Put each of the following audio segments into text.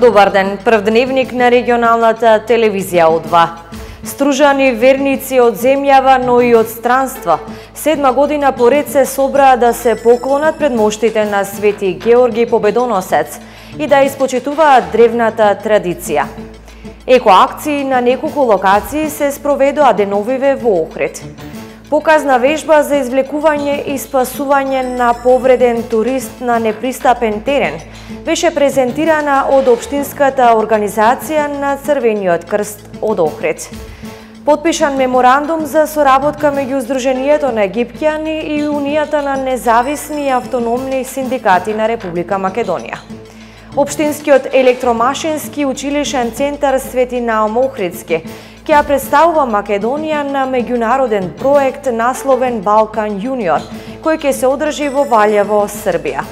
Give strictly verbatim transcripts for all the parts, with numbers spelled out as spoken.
Добар ден, прв дневник на регионалната телевизија О два. Стружани верници од земјава, но и од странство, седма година поред се собраа да се поклонат пред моштите на Свети Георги Победоносец и да испочитуваат древната традиција. Екоакции на неколку локации се спроведоа деновиве во Охрид. Показна вежба за извлекување и спасување на повреден турист на непристапен терен беше презентирана од Општинската организација на Црвениот крст од Охрид. Потпишан меморандум за соработка меѓу Сдруженијето на египќани и Унијата на независни и автономни синдикати на Република Македонија. Општинскиот електромашински училишен центар Свети Наум Охридски ќе ја представува Македонија на меѓународен проект насловен Балкан Јуниор, кој ќе се одржи во Валјево, Србија.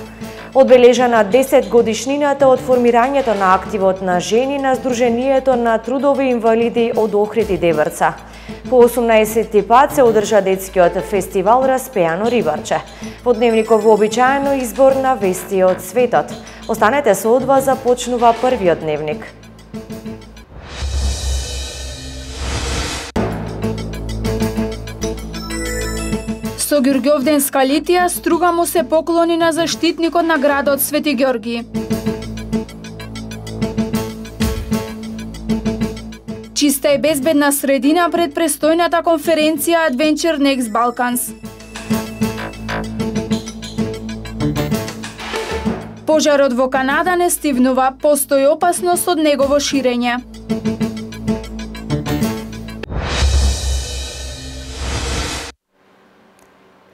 Одбележана десет годишнината од формирањето на активот на жени на Сдруженијето на трудови инвалиди од Охрид и Деврца. По осумнаесети пат се одржа детскиот фестивал Распеано рибарче. Во дневников вообичаено избор на вести од светот. Останете со О два, започнува првиот дневник. Со Ѓурѓовденска литија струга му се поклони на заштитникот на градот Свети Ѓорги. Чиста и безбедна средина пред престојната конференција Adventure Next Balkans. Пожарот во Канада не стивнува, постои опасност од негово ширење.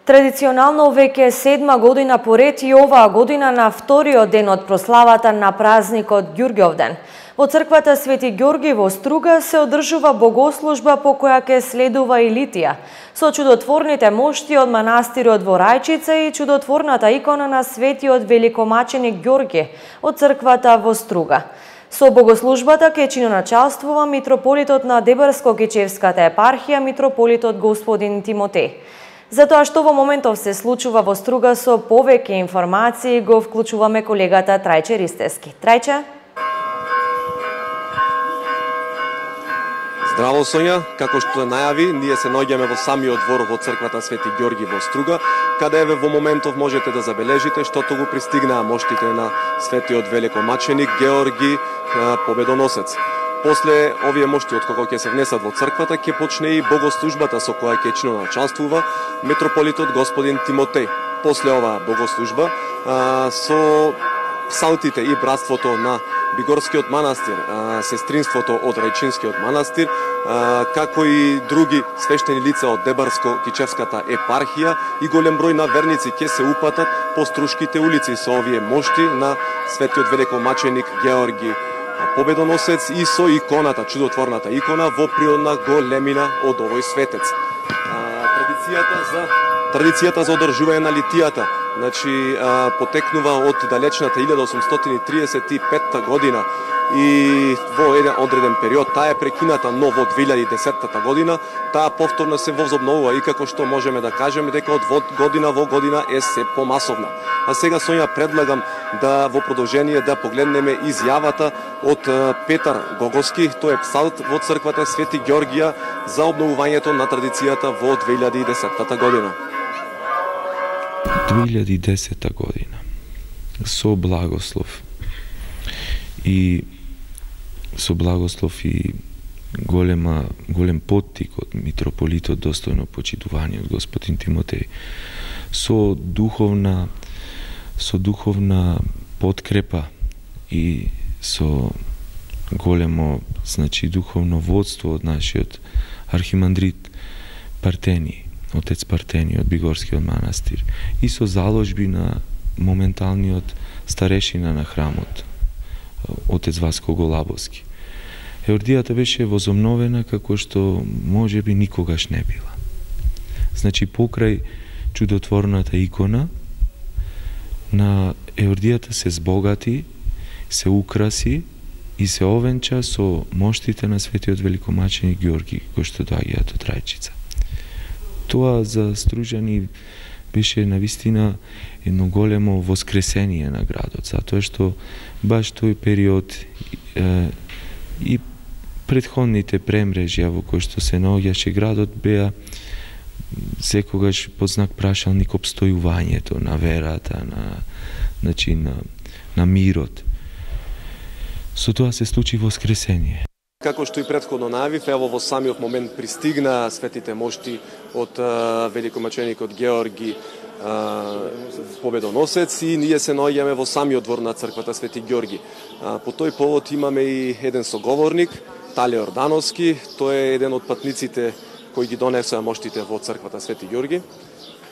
Традиционално веќе седма година поред и оваа година на вториот ден од прославата на празникот Ѓурѓовден. Во црквата Свети Ѓорги во Струга се одржува богослужба по која ќе следува и литија, со чудотворните мошти од манастирот во Рајчица и чудотворната икона на светиот великомаченик Ѓорги од црквата во Струга. Со богослужбата ќе чиноначалствува митрополитот на Дебарско-Кичевската епархија, митрополитот господин Тимотеј. За тоа што во моментов се случува во Струга, со повеќе информации го вклучуваме колегата Трајче Ристевски. Трајче? Здраво, Сонја, како што најави, ние се наоѓаме во самиот двор во црквата Свети Ѓорги во Струга, каде еве во моментов можете да забележите штото го пристигнаа моштите на светиот великомаченик Георги Победоносец. После овие мошти од кога ќе се внесат во црквата, ќе почне и богослужбата со која ќе чиноначалствува митрополитот господин Тимотеј. После оваа богослужба а, со псалтите и братството на Бигорскиот манастир, а, сестринството од Рајчинскиот манастир, а, како и други свештени лица од Дебарско-Кичевската епархија и голем број на верници ќе се упатат по Струшките улици со овие мошти на светиот великомаченик Георги Победоносец и со иконата, чудотворната икона во природна големина од овој светец. А, традицијата за традицијата за одржување на литијата, значи а, потекнува од далечната илјада осумстотини триесет и петта година и во еден одреден период таа е прекината, но во две илјади и десетта година таа повторно се возобновува и како што можеме да кажеме дека од година во година е се помасовна. А сега, Сонја, предлагам да во продолжение да погледнеме изјавата од Петар Гоговски, тој е псалт во црквата Свети Ѓоргија за обновувањето на традицијата во две илјади и десетта година. две илјади и десетта година со благослов и со благослов и голема голем поттик од митрополитот достојно почитување од господин Тимотеј, со духовна со духовна подкрепа и со големо, значи, духовно водство од нашиот архимандрит Партени, отец Партени од Бигорскиот манастир и со заложби на моменталниот старешина на храмот, отец Васко Голабовски. Еордијата беше возобновена како што можеби никогаш не била. Значи, покрај чудотворната икона, на Еордијата се збогати, се украси и се овенча со моштите на светиот великомаченик Ѓорги, кој што доаѓаат од Рајчица. Тоа за стружани беше навистина едно големо воскресение на градот, затоа што баш тој период е, и претходните премрежја во кои што се наоѓаше градот беа секогаш под знак прашалник обстојувањето на верата, на, значи, на, на мирот. Со тоа се случи воскресение. Како што и претходно најавив, ево во самиот момент пристигна светите мошти од а, великомаченикот Георги а, победоносец и ние се наоѓаме во самиот двор на црквата Свети Ѓорги. А, по тој повод имаме и еден соговорник, Тале Ордановски, тој е еден од патниците кои ги донесоа моштите во црквата Свети Ѓорги.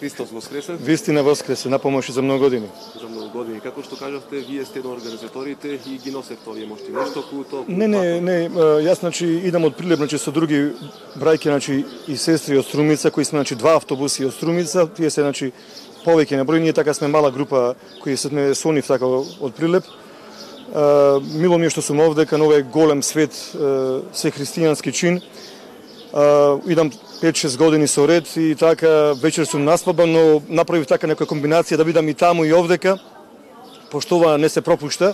Христос воскресе. Вистина воскресе, на помош за многу години. За многу години. Како што кажавте, вие сте еден од организаторите и ги носевте овие мошти. Нешто куто? Не, не, не, јас значи идам од Прилеп, значи со други брајки, значи и сестри од Струмица, кои сме значи два автобуси од Струмица, тие се значи повеќе на број, ние така сме мала група кои сме сонив така од Прилеп. Uh, мило ми е што сум овде, кај овој голем свет, uh, се христијански чин. Uh, идам пет-шест години со ред и така вечер сум наспабан, но направив така некоја комбинација да бидам и таму и овдека, пошто ова не се пропушта.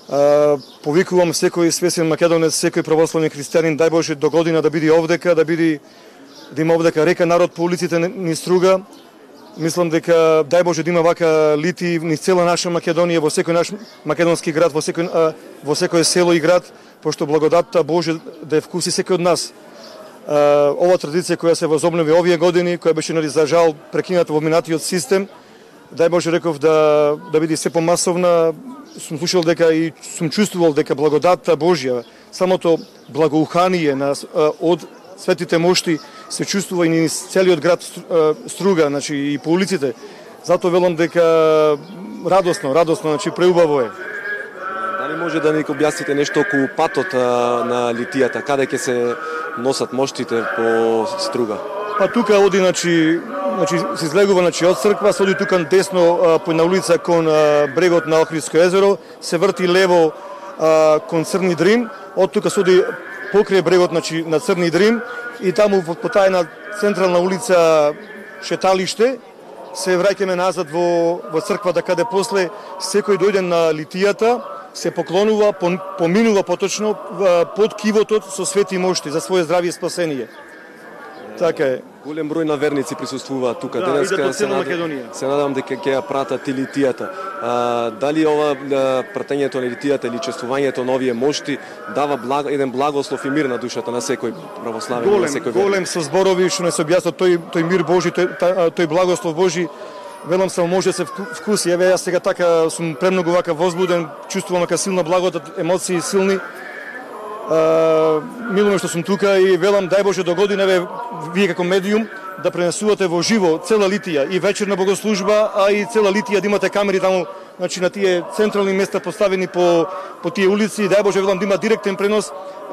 Uh, повикувам секој свесен македонец, секој православен христијанин, дај Боже до година да биде овдека, да биде да има овдека река народ по улиците ни Струга. Мислам дека дај Боже да има вака лити низ цела наша Македонија, во секој наш македонски град, во секој во секој село и град, пошто благодатта Божја да ја вкуси секој од нас. Ова традиција која се возобнови овие години, која беше нали за жал прекината во минатиот систем, дај Боже реков да да биде се помасовна. Сум слушал дека и сум чувствувал дека благодатта Божја, самото благоухание на од светите мошти се чувствува и низ целиот град Струга, значи и по улиците. Затоа велам дека радосно, радосно, значи преубаво е. Дали може да ни објасните нешто околу патот на литијата, каде ќе се носат моштите по Струга? Па тука оди, значи, значи се излегува значи од црква, се оди тука десно по на улица кон брегот на Охридско езеро, се врти лево а, кон Црни Дрим, од тука се оди покрај брегот значи на Црни Дрим и таму по таа една централна улица шеталиште се враќаме назад во во црквата каде после секој дојде на литијата, се поклонува, поминува поточно под кивотот со свети мошти за своје здравје и спасение. Така е. Голем број на верници присуствуваат тука да, денеска. Се, над... се надам дека ќе ја пратат и литијата. А, дали ова пратењето на литијата или чествувањето на овие мошти дава благ, еден благослов и мир на душата на секој православен, голем, на секој верник? Голем со зборови што не се објаснат тој тој мир Божи, тој, тој благослов Божи. Велам само може да се вкуси. Еве јас сега така сум премногу вака возбуден, чувствувам вака силна благодат, емоции силни. Uh, мило што сум тука и велам дај Боже до година еве вие како медиум да пренесувате во живо цела литија и вечерна богослужба, а и цела литија да имате камери таму, значи на тие централни места поставени по по тие улици, дај Боже велам да има директен пренос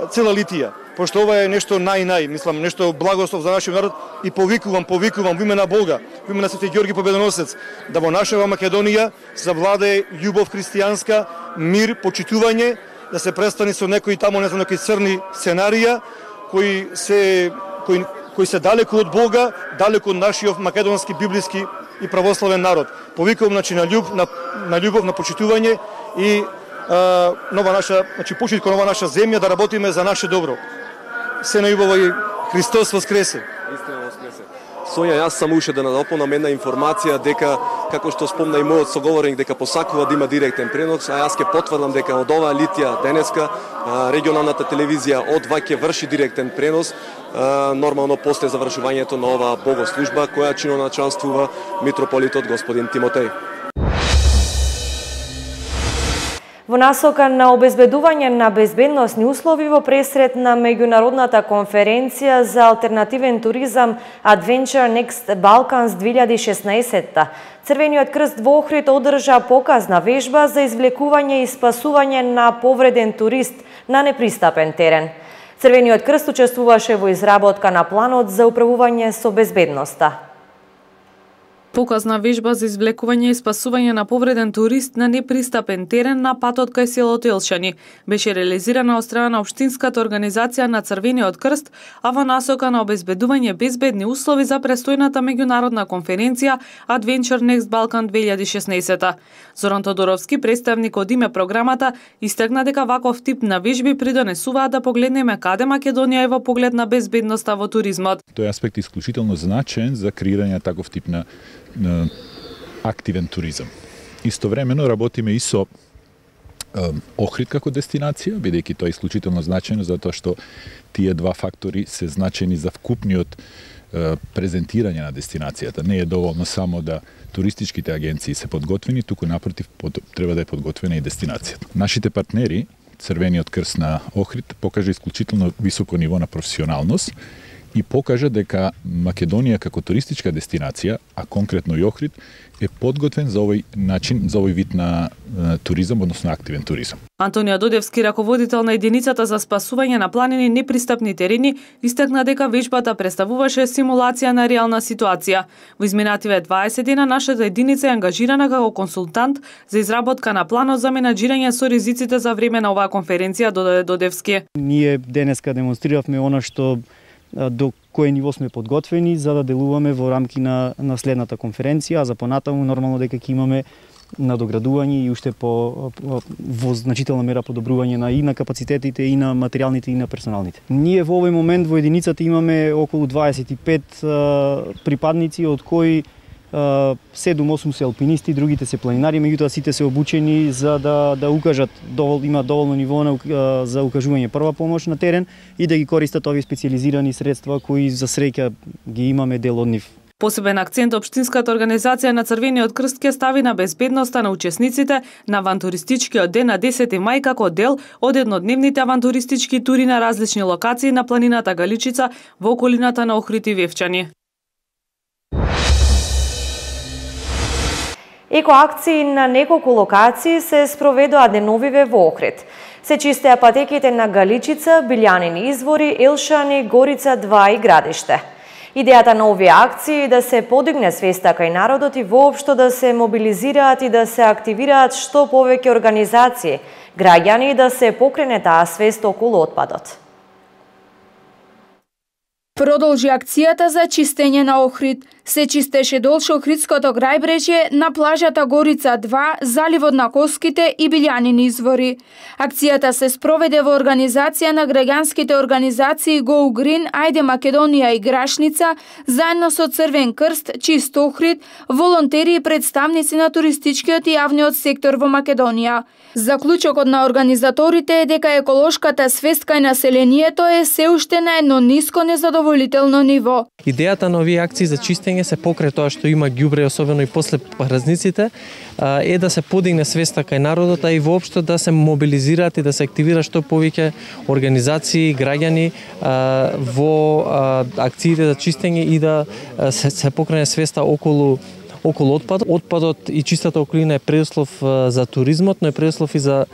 цела литија, пошто ова е нешто нај-нај, мислам нешто благослов за нашиот народ и повикувам, повикувам во име на Бога, во име на Свети Ѓорги Победоносец, да во нашава Македонија завладее љубов христијанска, мир, почитување, да се престани со некои таму, не знам, некои црни сценарија, кои се, кои, кои се далеку од Бога, далеку од нашиот македонски, библиски и православен народ. Повикувам, значи, на, љуб, на, на љубов, на почитување и а, нова наша, значи, почит кон нова наша земја, да работиме за наше добро. Се најубаво и Христос воскресе. Истина воскресе. Сонја, јас само уште да надополнам една информација дека, како што спомна и мојот соговорник, дека посакува да има директен пренос, а јас ќе потврдам дека од оваа литија денеска регионалната телевизија од ва ќе врши директен пренос, нормално после завршувањето на оваа богослужба, која чиноначалствува митрополитот господин Тимотеј. Во насока на обезбедување на безбедносни услови во пресред на меѓународната конференција за алтернативен туризам Adventure Next Balkans две илјади и шеснаесетта, Црвениот крст во Охрид одржа показна вежба за извлекување и спасување на повреден турист на непристапен терен. Црвениот крст учествуваше во изработка на планот за управување со безбедноста. Показна вежба за извлекување и спасување на повреден турист на непристапен терен на патот кај селото Елшани беше реализирана од страна на Општинската организација на Црвениот крст, а во насока на обезбедување безбедни услови за престојната меѓународна конференција Adventure Next Balkan две илјади и шеснаесета. Зоран Тодоровски, представник од име програмата, истакна дека ваков тип на вежби придонесуваат да погледнеме каде Македонија е во поглед на безбедноста во туризмот. Тој аспект е исклучително значаен за креирање на таков тип на на активен туризам. Истовремено работиме и со е, Охрид како дестинација, бидејќи тоа е исклучително значајно затоа што тие два фактори се значајни за вкупниот е, презентирање на дестинацијата. Не е доволно само да туристичките агенции се подготвени, туку напротив под, треба да е подготвена и дестинацијата. Нашите партнери, Црвениот крст на Охрид, покажа исклучително високо ниво на професионалност и покажа дека Македонија како туристичка дестинација, а конкретно и Охрид, е подготвен за овој начин, за овој вид на е, туризам, односно активен туризам. Антонија Додевски, раководител на единицата за спасување на планини непристапни терени, истакна дека вежбата представуваше симулација на реална ситуација. Во изминативе дваесет дена нашата единица е ангажирана како консултант за изработка на планот за менаџирање со ризиците за време на оваа конференција, додаде Додевски. Ние денеска демонстриравме она што до кое ниво сме подготвени за да делуваме во рамки на, на следната конференција, а за понатаму нормално дека ќе имаме надоградување и уште по, по во значителна мера подобрување на и на капацитетите и на материјалните и на персоналните. Ние во овој момент во единицата имаме околу дваесет и пет а, припадници, од кои седум-осум се алпинисти, другите се планинари, меѓутоа сите се обучени за да да укажат довол, има доволно ниво на, за укажување прва помош на терен и да ги користат овие специјализирани средства кои за среќа ги имаме дел од нив. Посебен акцент Општинската организација на Црвениот крст ќе стави на безбедноста на учесниците на авантуристичкиот ден на десети мај како дел од еднодневните авантуристички тури на различни локации на планината Галичица во околината на Охрид и Вевчани. Екоакции на неколку локации се спроведоа деновиве во Охрид. Се чистеа патеките на Галичица, Билјанини извори, Елшани, Горица два и Градиште. Идејата на овие акции е да се подигне свеста кај народот и воопшто да се мобилизираат и да се активираат што повеќе организации, граѓани и да се покрене таа свест околу отпадот. Продолжи акцијата за чистење на Охрид. Се чистеше долж Охридското крајбрежје на плажата Горица два, заливот на Коските и Билјанини извори. Акцијата се спроведе во организација на граѓанските организации Go Green, Ајде Македонија и Грашница, заедно со Црвен крст, Чист Охрид, волонтери и представници на туристичкиот и јавниот сектор во Македонија. Заклучокот на организаторите е дека еколошката свест кај населението е се уште на едно ниско незадоволително ниво. Идејата на овие акции за чистење се покрај тоа што има ѓубре, особено и после празниците, е да се подигне свеста кај народот, а и воопшто да се мобилизираат и да се активира што повеќе организации, граѓани во акциите за чистење и да се, се покрене свеста околу околу отпадот. Отпадот и чистата околина е предуслов за туризмот, но е предуслов и за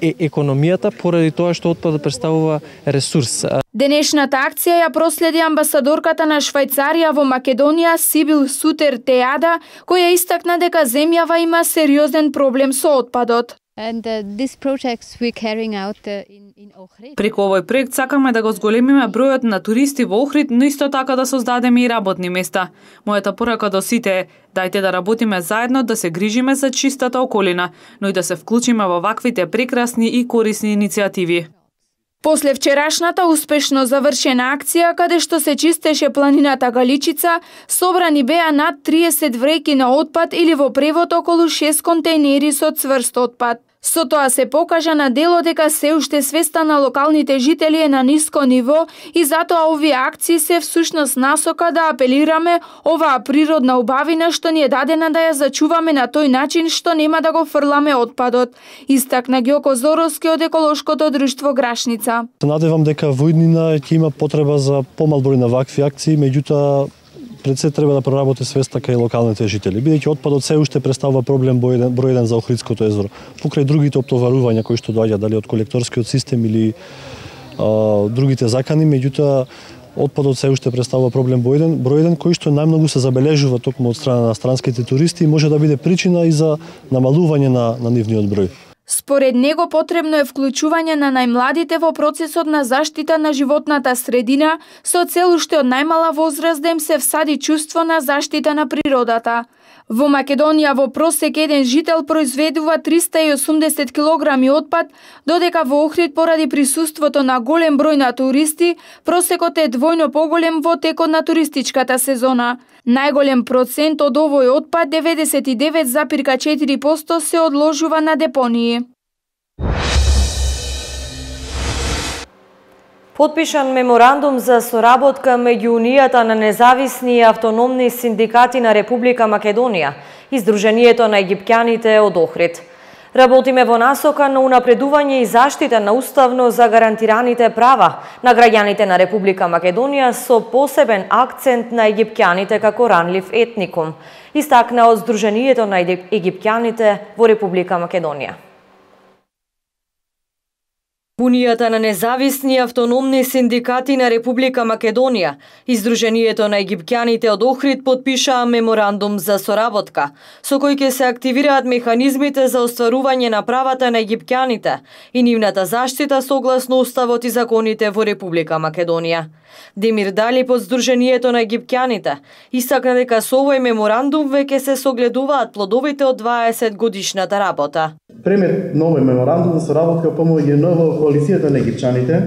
е економијата, поради тоа што отпадот представува ресурс. Денешната акција ја проследи амбасадорката на Швајцарија во Македонија Сибил Сутер Теада, која истакна дека земјава има сериозен проблем со отпадот. And uh, this projects we're carrying out uh, in, in Ohrid. Преку овој проект сакаме да го зголемиме бројот на туристи во Охрид, но исто така да создадеме и работни места. Мојата порака до сите е: дајте да работиме заедно, да се грижиме за чистата околина, но и да се вклучиме во ваквите прекрасни и корисни иницијативи. После вчерашната успешно завршена акција, каде што се чистеше планината Галичица, собрани беа над триесет вреќи на отпад или во превод околу шест контејнери со цврст отпад. Со тоа се покажа на дело дека се уште свеста на локалните жители е на ниско ниво и затоа овие акции се всушност насока да апелираме оваа природна убавина што ни е дадена да ја зачуваме на тој начин што нема да го фрламе отпадот, истакна Ѓоко Зоровски од еколошкото друштво Грашница. Се надевам дека во иднина ќе има потреба за помал број на вакви акции, меѓутоа пред се треба да проработи свеста кај локалните жители, бидејќи отпадот се уште представува проблем број еден, број еден за Охридското езеро. Покрај другите оптоварувања кои што доаѓа дали од колекторскиот систем или а, другите закани, меѓутоа Отпадот се уште представува проблем број еден, број еден кој што најмногу се забележува токму од страна на странските туристи и може да биде причина и за намалување на, на нивниот број. Според него потребно е вклучување на најмладите во процесот на заштита на животната средина со цел уште од најмала возраст да им се всади чувство на заштита на природата. Во Македонија во просек еден жител произведува триста и осумдесет килограми отпад, додека во Охрид поради присуството на голем број на туристи, просекот е двојно поголем во текот на туристичката сезона. Најголем процент од овој отпад, деветдесет и девет запирка четири проценти, се одложува на депонии. Потпишан меморандум за соработка меѓу Унијата на независни и автономни синдикати на Република Македонија и Сдруженијето на египтјаните од Охрид. Работиме во насока на унапредување и заштита на уставно загарантираните права на граѓаните на Република Македонија со посебен акцент на египтјаните како ранлив етникум, истакна од Сдруженијето на египтјаните во Република Македонија. Унијата на независни и автономни синдикати на Република Македонија и Сдруженијето на египтјаните од Охрид потпишаа меморандум за соработка, со кој ќе се активираат механизмите за остварување на правата на египтјаните и нивната заштита согласно уставот и законите во Република Македонија. Демир Далип од Сдруженијето на египтјаните истакна дека со овој меморандум веќе се согледуваат плодовите од дваесет годишната работа. Премет на овој меморандум за соработка помоѓу во коалицијата на египтчаните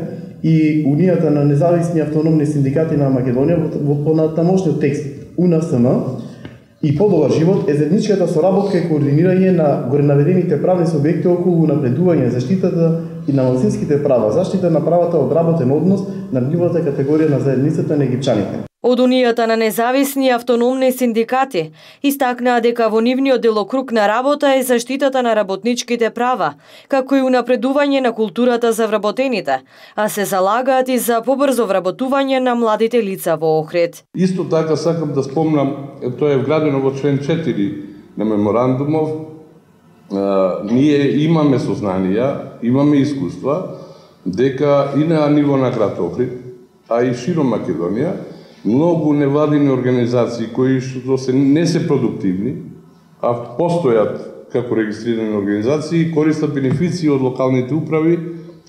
и Унијата на независни автономни синдикати на Македонија во понатамошниот текст У Н С М и подобар живот е заедничката соработка и координирање на горенаведените правни субјекти околу напредување заштитата и на малцинските права, заштита на правата од работен однос на нивната категорија на заедницата на египтчаните. Од Унијата на независни и автономни синдикати истакнаа дека во нивниот делокруг на работа е заштитата на работничките права, како и унапредување на културата за вработените, а се залагаат и за побрзо вработување на младите лица во Охрид. Исто така сакам да спомнам, тоа е вградено во член четири на меморандумов, ние имаме сознанија, имаме искуства, дека и на ниво на град Охрид, а и широм Македонија, многу невладини организации кои што се не се продуктивни, а постојат како регистрирани организации, користат бенефиции од локалните управи,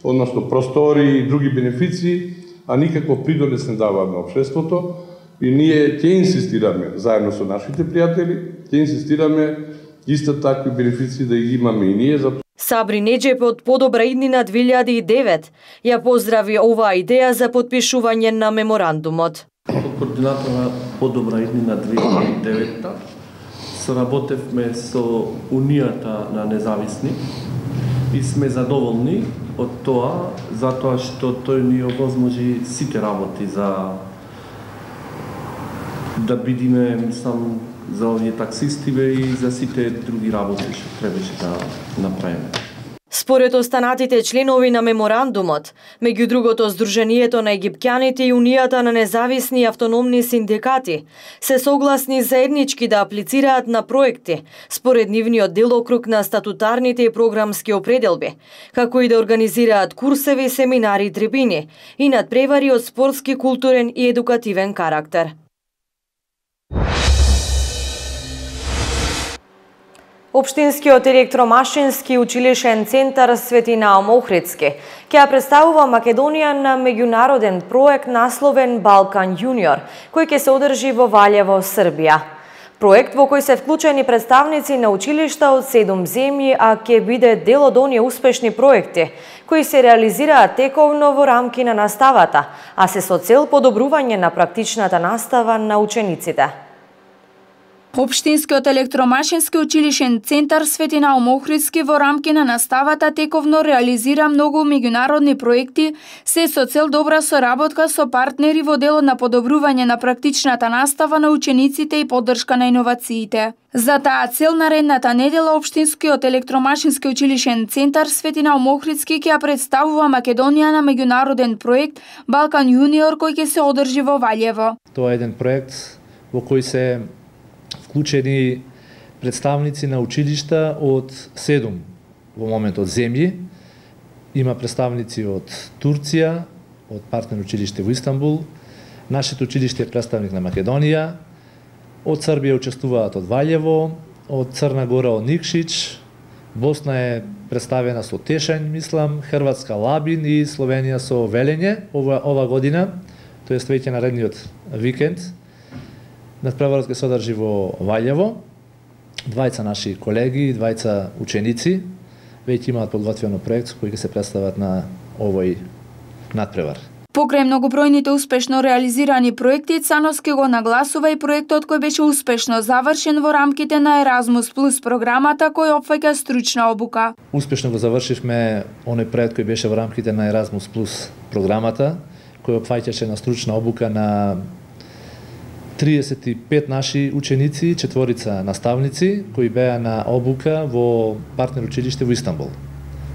односно простори и други бенефиции, а никаков придонес не даваат на општеството. И ние ќе инсистираме, заедно со нашите пријатели, ќе инсистираме исто такви бенефиции да ги имаме и ние. Сабри Неџеп од Подобра иднина две илјади и девет ја поздрави оваа идеја за потпишување на меморандумот. Како координатор на Подобра иднина две илјади и девета соработевме со Унијата на независни и сме задоволни од тоа, затоа што тој ни овозможи сите работи за да бидиме, мислам, за овие таксистиве и за сите други работи што требаше да направиме. Според останатите членови на меморандумот, меѓу другото Сдруженијето на египтјаните и Унијата на независни и автономни синдикати, се согласни заеднички да аплицираат на проекти според нивниот делокруг на статутарните и програмски определби, како и да организираат курсеви, семинари и трибини и надпревари од спортски, културен и едукативен карактер. Општинскиот електромашински училишен центар Свети Наум Охридски ќе ја представува Македонија на меѓународен проект насловен Балкан Јуниор, кој ќе се одржи во Валјево, Србија. Проект во кој се вклучени представници на училишта од седум земји, а ќе биде дел од оние успешни проекти кои се реализираат тековно во рамки на наставата, а се со цел подобрување на практичната настава на учениците. Општинскиот електромашински училишен центар Свети Наум Охридски во рамки на наставата тековно реализира многу меѓународни проекти, се со цел добра соработка со партнери во делот на подобрување на практичната настава на учениците и поддршка на иновациите. За таа цел наредната недела Општинскиот електромашински училишен центар Свети Наум Охридски ќе ја представува Македонија на меѓународен проект Балкан Јуниор кој ќе се одржи во Валјево. Тоа е еден проект во кој се вклучени представници на училишта од седум во моментот земји. Има представници од Турција, од партнер училиште во Истанбул, Нашето училиште е представник на Македонија, од Србија учествуваат од Валјево, од Црна Гора од Никшич, Босна е представена со Тешањ, мислам, Хрватска Лабин и Словенија со Велење ова, ова година, тоест веќе наредниот викенд. Надпреварот ќе се одржи во Валјево. Двајца наши колеги, двајца ученици веќе имаат подготвено проект кој ќе се представат на овој надпревар. Покрај многобројните успешно реализирани проекти, Цановски го нагласува и проектот кој беше успешно завршен во рамките на Еразмус Плюс програмата кој опфаќа стручна обука. Успешно го завршивме оној проект кој беше во рамките на Еразмус Плюс програмата, кој опфаќаше на стручна обука на триесет и пет наши ученици, четворица наставници кои беа на обука во партнер училиште во Истанбул.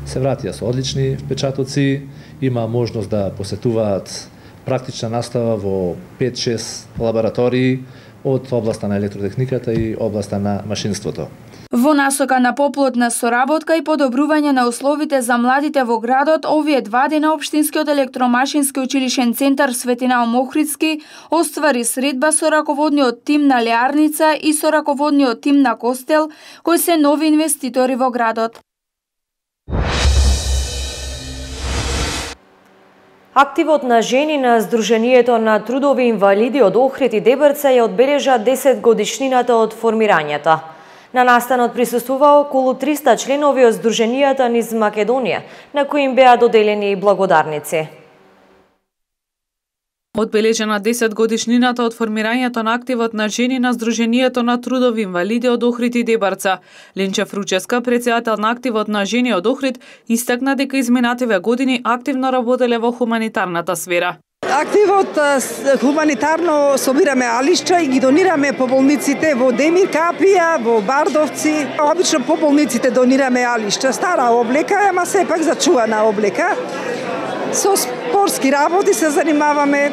Се вратија со одлични впечатоци, има можност да посетуваат практична настава во пет-шест лаборатории од областа на електротехниката и областа на машинството. Во насока на поплотна соработка и подобрување на условите за младите во градот, овие два дена Општинскиот електромашински училишен центар Светинал Охридски оствари средба со раководниот тим на Леарница и со раководниот тим на Костел, кои се нови инвеститори во градот. Активот на жени на Сдруженијето на трудови инвалиди од Охрид и Дебрца ја одбележа десет годишнината од формирањето. На настанот присуствува околу триста членови од Сдруженијата низ Македонија, на кои им беа доделени и благодарници. Одбележена десет годишнината од формирањето на активот на жени на Сдруженијето на трудови инвалиди од Охрид и Дебрца. Ленче Фруческа, председател на активот на жени од Охрид, истакна дека изминативе години активно работеле во хуманитарната сфера. Активот хуманитарно собираме алишча и ги донираме по болниците во Демир Капија, во Бардовци. Обично по болниците донираме алишча, стара облека, ама сепак зачувана облека. Со спортски работи се занимаваме.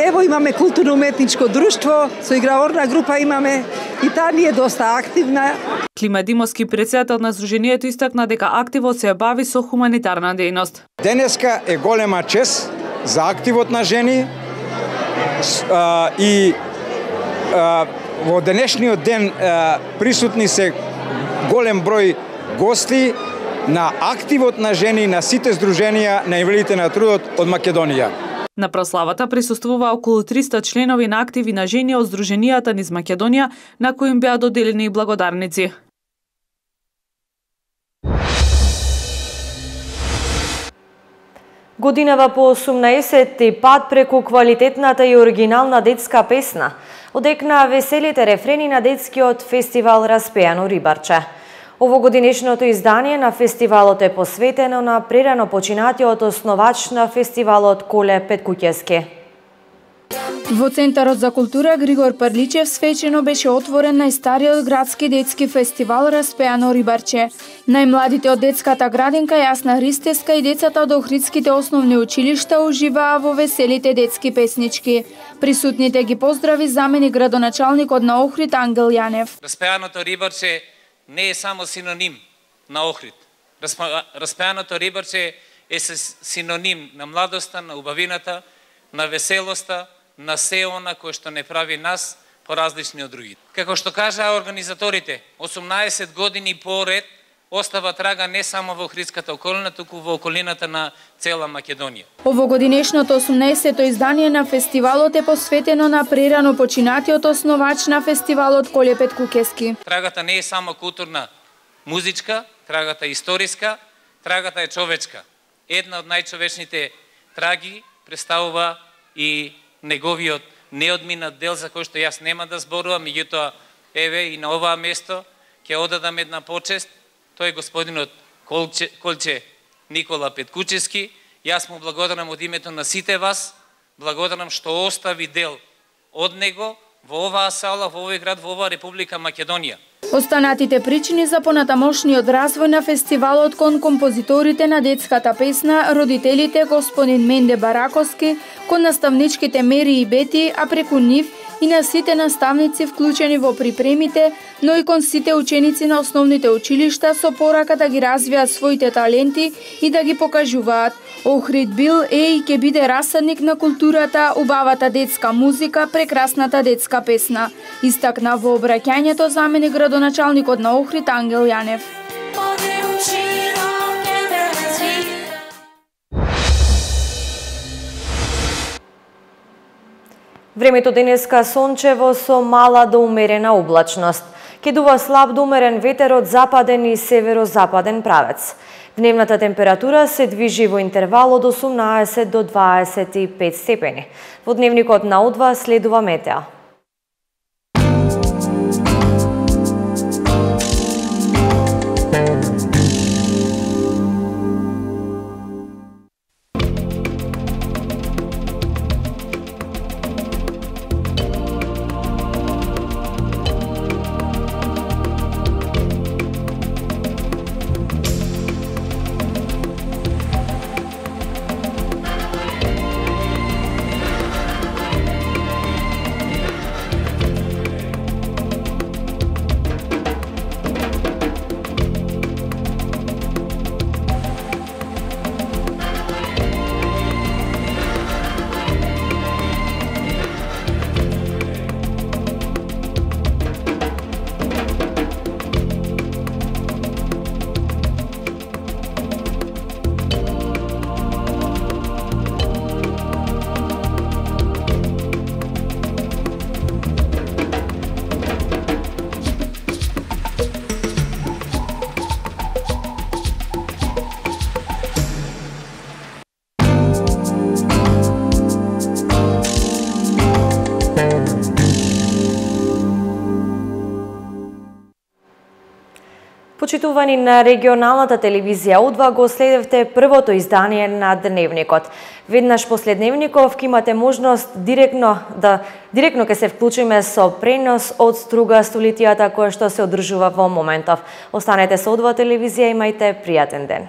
Ево имаме културно-уметничко друштво, со играорна група имаме и таа ни е доста активна. Клима Димовски, председател на Сдруженијето, истакна дека активот се бави со хуманитарна дејност. Денеска е голема чест за активот на жени а, и а, во денешниот ден а, присутни се голем број гости на активот на жени на сите здруженија на инвалидите на трудот од Македонија. На прославата присуствува околу триста членови на активи на жени од Сдруженијата низ Македонија, на кои им беа доделени и благодарници. Годинава по осумнаесетти пат преку квалитетната и оригинална детска песна одекна веселите рефрени на детскиот фестивал Распеано рибарче. Овогодинешното издание на фестивалот е посветено на прерано починатиот основач на фестивалот Коле Петкуќески. Во Центарот за култура Григор Парличев свечено беше отворен најстариот градски детски фестивал Распеано рибарче. Најмладите од детската градинка Јасна Ристеска и децата од Охридските основни училишта уживаа во веселите детски песнички. Присутните ги поздрави заменик градоначалникот на Охрид Ангел Јанев. Распеаното рибарче не е само синоним на Охрид. Распеаното рибарче е синоним на младоста, на убавината, на веселоста, на се она кој што не прави нас поразлични од другите. Како што кажаа организаторите, осумнаесет години поред остава трага не само во Охридската околина, туку во околината на цела Македонија. Овогодинешното осумнаесетто издание на фестивалот е посветено на прерано починатиот основач на фестивалот Коле Петкуќески. Трагата не е само културна, музичка, трагата е историска, трагата е човечка. Една од најчовечните траги представува и неговиот неодминат дел за кој што јас нема да зборувам, меѓутоа еве и на оваа место ќе одадам една почест. Тој е господинот Колче, Колче Никола Петкуќески. Јас му благодарам од името на сите вас, благодарам што остави дел од него во оваа сала, во овој град, во оваа Република Македонија. Останатите причини за понатамошниот развој на фестивалот кон композиторите на детската песна, родителите господин Менде Бараковски, кон наставничките Мери и Бети, а преку нив и на сите наставници вклучени во припремите, но и кон сите ученици на основните училишта со порака да ги развијат своите таленти и да ги покажуваат. Охрид бил е и ќе биде расадник на културата, убавата детска музика, прекрасната детска песна. Истакна во обраќањето заменик градоначалникот на Охрид Ангел Јанев. Времето денеска сончево со мала до умерена облачност. Ке дува слаб до умерен ветер од западен и северозападен правец. Дневната температура се движи во интервал од осумнаесет до дваесет и пет степени. Во дневникот на О два следува метеа. Почитувани на регионалната телевизија О два го следевте првото издание на Дневникот. Веднаш после Дневников ќе имате можност директно да директно ќе се вклучиме со пренос од Струга столетијата која што се одржува во моментов. Останете со О два телевизија, имајте пријатен ден.